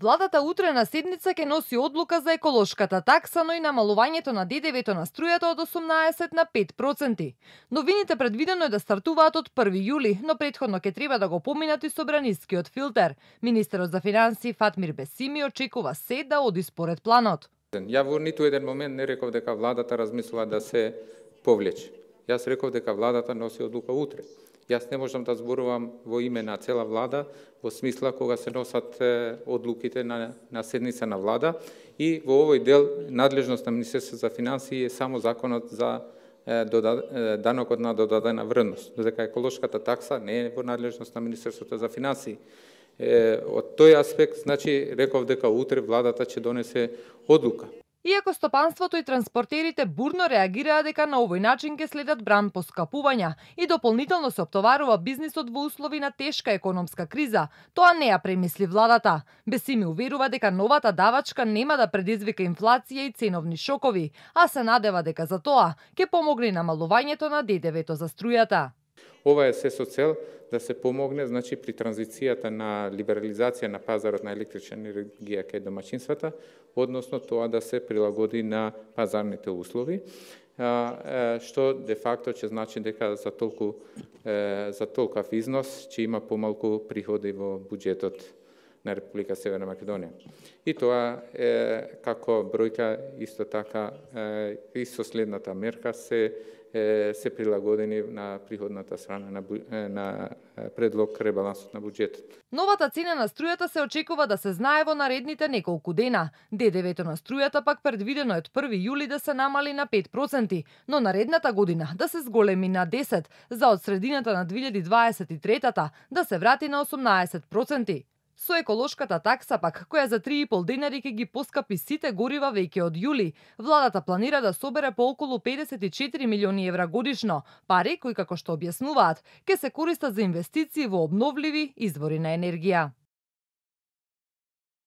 Владата утре на седница ќе носи одлука за еколошката такса, но и намалувањето на ДДВ-то на струјата од 18 на 5%. Новините предвидено е да стартуваат од 1 јули, но претходно ќе треба да го поминат и собранискиот филтер. Министерот за финансии Фатмир Бесими очекува се да оди според планот. Ја во ниту еден момент не реков дека владата размислува да се повлече. Јас реков дека владата носи одлука утре. Јас не можам да зборувам во име на цела влада, во смисла кога се носат одлуките на седница на влада и во овој дел надлежност на Министерството за финансии е само законот за данокот на додадена вредност, додека еколошката такса не е во надлежност на Министерството за финансии. Од тој аспект, значи, реков дека утре владата ќе донесе одлука. Иако стопанството и транспортерите бурно реагираа дека на овој начин ќе следат бран поскапувања и дополнително се оптоварува бизнисот во услови на тешка економска криза, тоа не ја премисли владата. Бесими уверува дека новата давачка нема да предизвика инфлација и ценовни шокови, а се надева дека за тоа ќе помогне намалувањето на ДДВ-то за струјата. Ова е се со цел да се помогне, значи, при транзицијата на либерализација на пазарот на електрична енергија кај домаќинствата, односно тоа да се прилагоди на пазарните услови, што де факто ќе значи дека за толков износ ќе има помалку приходи во буџетот на Република Северна Македонија. И тоа е како бројка исто така и со следната мерка се прилагодени на приходната страна на предлог ребалансот на буџетот. Новата цена на струјата се очекува да се знае во наредните неколку дена. ДДВ-то на струјата пак предвидено е од 1 јули да се намали на 5%, но наредната година да се зголеми на 10%, за од средината на 2023-та да се врати на 18%. Со еколошката такса пак, која за 3,5 денари ќе ги поскапи сите горива веќе од јули, владата планира да собере по околу 54 милиони евра годишно, пари кои, како што објаснуваат, ќе се користат за инвестиции во обновливи извори на енергија.